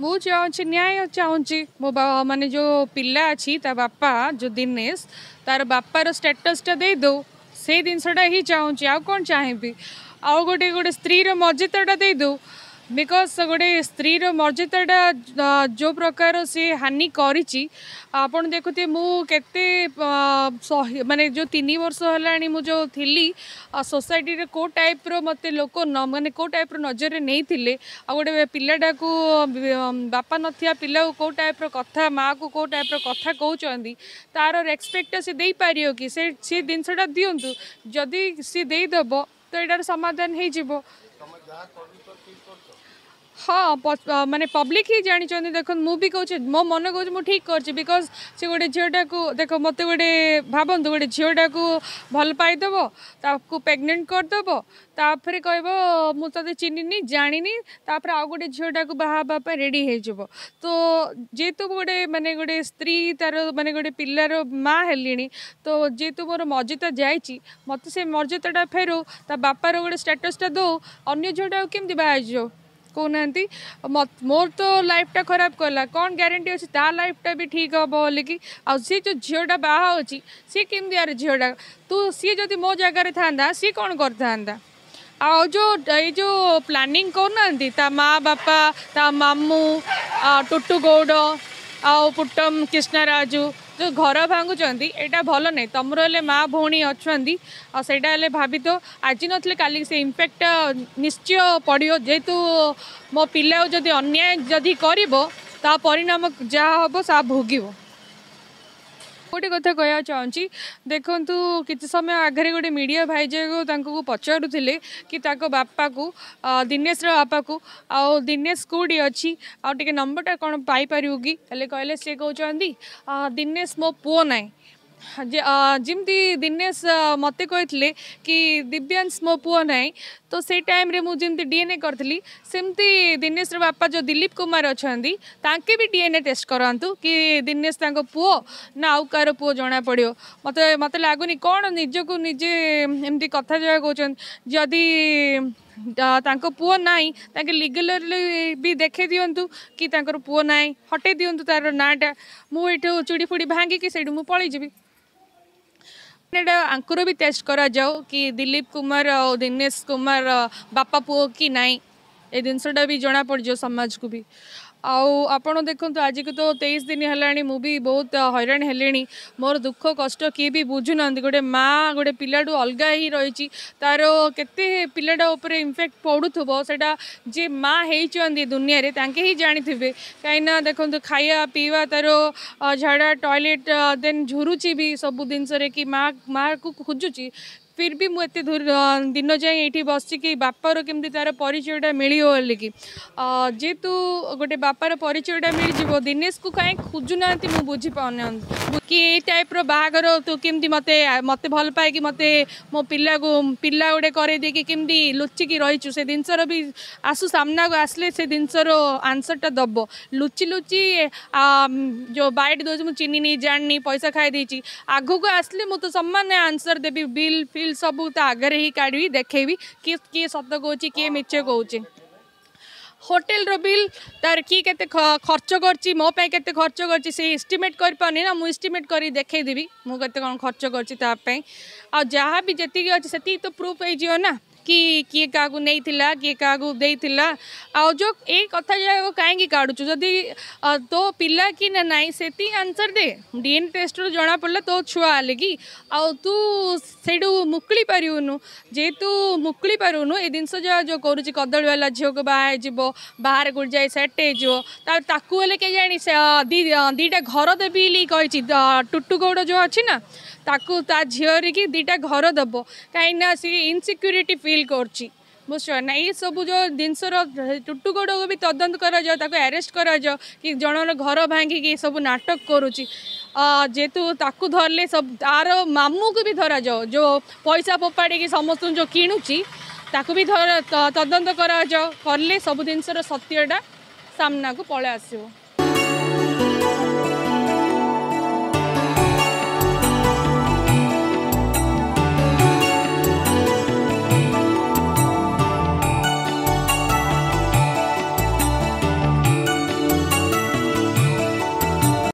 ମୁଁ ଚାହୁଁଛି ନ୍ୟାୟ ଚାହୁଁଛି। ମୋ ମାନେ ଯେଉଁ ପିଲା ଅଛି ତା ବାପା ଯେଉଁ ଦିନେଶ, ତାର ବାପାର ଷ୍ଟାଟସ୍ଟା ଦେଇଦେଉ, ସେଇ ଜିନିଷଟା ହିଁ ଚାହୁଁଛି, ଆଉ କ'ଣ ଚାହିଁବି? ଆଉ ଗୋଟେ ଗୋଟେ ସ୍ତ୍ରୀର ମର୍ଯ୍ୟାଦାଟା ଦେଇଦେଉ, because ଗୋଟେ ସ୍ତ୍ରୀର ମର୍ଯ୍ୟାଦାଟା ଯେଉଁ ପ୍ରକାର ସିଏ ହାନି କରିଛି ଆପଣ ଦେଖୁଥିବେ। ମୁଁ କେତେ ମାନେ ଯେଉଁ 3 ବର୍ଷ ହେଲାଣି ମୁଁ ଯେଉଁ ଥିଲି ସୋସାଇଟିରେ, କେଉଁ ଟାଇପ୍ର ମୋତେ ଲୋକ ମାନେ କେଉଁ ଟାଇପ୍ର ନଜରରେ ନେଇଥିଲେ, ଆଉ ଗୋଟେ ପିଲାଟାକୁ, ବାପା ନଥିବା ପିଲାକୁ କେଉଁ ଟାଇପ୍ର କଥା, ମାଆକୁ କେଉଁ ଟାଇପ୍ର କଥା କହୁଛନ୍ତି, ତାର ରେସପେକ୍ଟଟା ସେ ଦେଇପାରିବ କି? ସେ ଜିନିଷଟା ଦିଅନ୍ତୁ। ଯଦି ସିଏ ଦେଇଦେବ ତ ଏଇଟାର ସମାଧାନ ହେଇଯିବ। ହଁ, ମାନେ ପବ୍ଲିକ୍ ହିଁ ଜାଣିଛନ୍ତି। ଦେଖନ୍ତୁ, ମୁଁ ବି କହୁଛି, ମୋ ମନ କହୁଛି ମୁଁ ଠିକ୍ କରିଛି, because ସେ ଗୋଟେ ଝିଅଟାକୁ ଦେଖ, ମୋତେ ଗୋଟେ ଭାବନ୍ତୁ, ଗୋଟେ ଝିଅଟାକୁ ଭଲ ପାଇଦେବ, ତାକୁ ପ୍ରେଗନେଣ୍ଟ କରିଦେବ, ତାପରେ କହିବ ମୁଁ ତୋତେ ଚିହ୍ନିନି ଜାଣିନି, ତାପରେ ଆଉ ଗୋଟେ ଝିଅଟାକୁ ବାହା ହେବା ପାଇଁ ରେଡ଼ି ହେଇଯିବ। ତ ଯେହେତୁ ଗୋଟେ ମାନେ ଗୋଟେ ସ୍ତ୍ରୀ ତାର ମାନେ ଗୋଟେ ପିଲାର ମା ହେଲିଣି, ତ ଯେହେତୁ ମୋର ମର୍ଯ୍ୟାଦା ଯାଇଛି, ମୋତେ ସେ ମର୍ଯ୍ୟାଦାଟା ଫେରୁ, ତା ବାପାର ଗୋଟେ ଷ୍ଟାଟସ୍ଟା ଦେଉ। ଅନ୍ୟ ଝିଅଟାକୁ କେମିତି ବାହା ହେଇଯିବ କହୁନାହାନ୍ତି? ମୋର ତ ଲାଇଫ୍ଟା ଖରାପ କଲା, କ'ଣ ଗ୍ୟାରେଣ୍ଟି ଅଛି ତା ଲାଇଫ୍ଟା ବି ଠିକ୍ ହେବ ବୋଲିକି? ଆଉ ସିଏ ଯେଉଁ ଝିଅଟା ବାହା ହେଉଛି, ସିଏ କେମିତି ଆର ଝିଅଟା ତୁ, ସିଏ ଯଦି ମୋ ଜାଗାରେ ଥାନ୍ତା ସିଏ କ'ଣ କରିଥାନ୍ତା? ଆଉ ଯେଉଁ ଏଇ ଯେଉଁ ପ୍ଲାନିଂ କରୁନାହାନ୍ତି ତା ମା ବାପା, ତା ମାମୁଁ ଟୁଟୁ ଗୌଡ଼ ଆଉ ପୁଟ୍ଟମ କୃଷ୍ଣରାଜୁ ଯେଉଁ ଘର ଭାଙ୍ଗୁଛନ୍ତି, ଏଇଟା ଭଲ ନାହିଁ। ତମର ହେଲେ ମା ଭଉଣୀ ଅଛନ୍ତି, ଆଉ ସେଇଟା ହେଲେ ଭାବି ତ ଆଜି ନଥିଲେ କାଲି ସେ ଇମ୍ପାକ୍ଟଟା ନିଶ୍ଚୟ ପଡ଼ିବ। ଯେହେତୁ ମୋ ପିଲାକୁ ଯଦି ଅନ୍ୟାୟ ଯଦି କରିବ, ତା ପରିଣାମ ଯାହା ହେବ ତାହା ଭୋଗିବ। ଗୋଟେ କଥା କହିବାକୁ ଚାହୁଁଛି, ଦେଖନ୍ତୁ, କିଛି ସମୟ ଆଗରେ ଗୋଟେ ମିଡ଼ିଆ ଭାଇଜାକୁ ତାଙ୍କୁ ପଚାରୁଥିଲେ କି ତାଙ୍କ ବାପାକୁ, ଦିନେଶର ବାପାକୁ, ଆଉ ଦିନେଶ କେଉଁଠି ଅଛି ଆଉ ଟିକେ ନମ୍ବରଟା କ'ଣ ପାଇପାରିବୁ କି? ହେଲେ କହିଲେ, ସେ କହୁଛନ୍ତି ଦିନେଶ ମୋ ପୁଅ ନାହିଁ। ଯେମିତି ଦିନେଶ ମୋତେ କହିଥିଲେ କି ଦିବ୍ୟାଂଶ ମୋ ପୁଅ ନାହିଁ, ତ ସେଇ ଟାଇମ୍ରେ ମୁଁ ଯେମିତି DNA କରିଥିଲି, ସେମିତି ଦିନେଶର ବାପା ଯେଉଁ ଦିଲ୍ଲୀପ କୁମାର ଅଛନ୍ତି, ତାଙ୍କେ ବି DNA test କରାନ୍ତୁ କି ଦିନେଶ ତାଙ୍କ ପୁଅ ନା ଆଉ କାହାର ପୁଅ ଜଣାପଡ଼ିବ। ମୋତେ ଲାଗୁନି, କ'ଣ ନିଜକୁ ନିଜେ ଏମିତି କଥା ଯାହା କହୁଛନ୍ତି। ଯଦି ତାଙ୍କ ପୁଅ ନାହିଁ, ତାଙ୍କେ ଲିଗାଲି ବି ଦେଖେଇ ଦିଅନ୍ତୁ କି ତାଙ୍କର ପୁଅ ନାହିଁ, ହଟେଇ ଦିଅନ୍ତୁ ତାର ନାଁଟା। ମୁଁ ଏଇଠୁ ଚୁଡ଼ି ଫୁଡ଼ି ଭାଙ୍ଗିକି ସେଇଠୁ ମୁଁ ପଳେଇଯିବି। ଏଇଟା ଆଙ୍କର ବି ଟେଷ୍ଟ କରାଯାଉ କି ଦିଲ୍ଲୀପ କୁମାର ଆଉ ଦିନେଶ କୁମାର ବାପା ପୁଅ କି ନାହିଁ, ଏ ଜିନିଷଟା ବି ଜଣାପଡ଼ିଯିବ ସମାଜକୁ ବି। ଆଉ ଆପଣ ଦେଖନ୍ତୁ, ଆଜିକୁ ତ 23 ଦିନ ହେଲାଣି, ମୁଁ ବି ବହୁତ ହଇରାଣ ହେଲିଣି। ମୋର ଦୁଃଖ କଷ୍ଟ କିଏ ବି ବୁଝୁନାହାନ୍ତି। ଗୋଟେ ମା ଗୋଟେ ପିଲାଠୁ ଅଲଗା ହେଇ ରହିଛି, ତାର କେତେ ପିଲାଟା ଉପରେ ଇମ୍ପାକ୍ଟ ପଡ଼ୁଥିବ, ସେଇଟା ଯିଏ ମା ହେଇଛନ୍ତି ଦୁନିଆରେ ତାଙ୍କେ ହିଁ ଜାଣିଥିବେ। କାହିଁକିନା ଦେଖନ୍ତୁ, ଖାଇବା ପିଇବା, ତାର ଝାଡ଼ା, ଟଏଲେଟ୍, ଦେନ୍ ଝୁରୁଛି ବି ସବୁ ଜିନିଷରେ କି ମା ମାଆକୁ ଖୋଜୁଛି। ଫିର୍ ବି ମୁଁ ଏତେ ଦିନ ଯାଏଁ ଏଇଠି ବସିଛି କି ବାପାର କେମିତି ତାର ପରିଚୟଟା ମିଳିବ ବୋଲିକି। ଯେହେତୁ ଗୋଟେ ବାପାର ପରିଚୟଟା ମିଳିଯିବ, ଦିନେଶକୁ କାହିଁ ଖୋଜୁନାହାନ୍ତି ମୁଁ ବୁଝିପାରୁନାହାନ୍ତି କି ଏଇ ଟାଇପ୍ର ବାହାଘର ତୁ କେମିତି ମୋତେ ଭଲ ପାଇକି ମୋତେ ମୋ ପିଲାକୁ ପିଲା ଗୋଟେ କରେଇ ଦେଇକି କେମିତି ଲୁଚିକି ରହିଛୁ, ସେ ଜିନିଷର ବି ଆସୁ, ସାମ୍ନାକୁ ଆସିଲେ ସେ ଜିନିଷର ଆନ୍ସର୍ଟା ଦେବ। ଲୁଚି ଲୁଚି ଯେଉଁ ବାଇଟ୍ ଦେଉଛି, ମୁଁ ଚିହ୍ନିନି ଜାଣିନି, ପଇସା ଖାଇ ଦେଇଛି, ଆଗକୁ ଆସିଲେ ମୁଁ ତ ସମାନ ଆନ୍ସର୍ ଦେବି। ବିଲ୍ ଫିଲ୍ ସବୁ ତା ଆଗରେ ହିଁ କାଢ଼ିବି, ଦେଖେଇବି କିଏ କିଏ ସତ କହୁଛି, କିଏ ମିଛ କହୁଛି। ହୋଟେଲର ବିଲ୍, ତାର କିଏ କେତେ ଖର୍ଚ୍ଚ କରିଛି, ମୋ ପାଇଁ କେତେ ଖର୍ଚ୍ଚ କରିଛି, ସେ ଏଷ୍ଟିମେଟ୍ କରିପାରୁନି ନା, ମୁଁ ଏଷ୍ଟିମେଟ୍ କରି ଦେଖେଇଦେବି ମୁଁ କେତେ କ'ଣ ଖର୍ଚ୍ଚ କରିଛି ତା ପାଇଁ। ଆଉ ଯାହା ବି ଯେତିକି ଅଛି ସେତିକି ତ ପ୍ରୁଫ୍ ହେଇଯିବ ନା କି କିଏ କାହାକୁ ନେଇଥିଲା, କିଏ କାହାକୁ ଦେଇଥିଲା। ଆଉ ଯେଉଁ ଏଇ କଥା ଯାକ କାହିଁକି କାଢ଼ୁଛୁ? ଯଦି ତୋ ପିଲା କି ନା ନାହିଁ ସେତିକି ଆନ୍ସର୍ ଦେ। DNA ଟେଷ୍ଟରୁ ଜଣାପଡ଼ିଲା ତୋ ଛୁଆ ହେଲେ କି, ଆଉ ତୁ ସେଇଠୁ ମୁକୁଳି ପାରିବୁନୁ। ଯେହେତୁ ମୁକୁଳି ପାରିବୁନୁ, ଏ ଜିନିଷ ଯାହା ଯେଉଁ କରୁଛି, କଦଳୀ ବାଲା ଝିଅକୁ ବାହା ହେଇଯିବ, ବାହାରେ କେଉଁଠି ଯାଇ ସେଟ୍ ହେଇଯିବ, ତାପରେ ତାକୁ ହେଲେ କେଜାଣି ସେ 2ଟା ଘର ଦେବି ବୋଲି କହିଛି। ଟୁଟୁ ଗୌଡ଼ ଯେଉଁ ଅଛି ନା, ତାକୁ ତା ଝିଅରିକି 2ଟା ଘର ଦେବ, କାହିଁକିନା ସେ ଇନସିକ୍ୟୁରିଟି ଫିଲ୍ କରୁଛି, ବୁଝୁଛ ନା? ଏଇସବୁ ଯେଉଁ ଜିନିଷର ଟୁଟୁ ଗୌଡ଼କୁ ବି ତଦନ୍ତ କରାଯାଉ, ତାକୁ ଆରେଷ୍ଟ କରାଯାଉ କି ଜଣର ଘର ଭାଙ୍ଗିକି ଏସବୁ ନାଟକ କରୁଛି। ଯେହେତୁ ତାକୁ ଧରିଲେ ସବୁ, ତାର ମାମୁଁକୁ ବି ଧରାଯାଉ, ଯେଉଁ ପଇସା ଫୋପାଡ଼ିକି ସମସ୍ତଙ୍କୁ ଯେଉଁ କିଣୁଛି ତାକୁ ବି ତଦନ୍ତ କରାଯାଉ। କଲେ ସବୁ ଜିନିଷର ସତ୍ୟଟା ସାମ୍ନାକୁ ପଳେଇ ଆସିବ।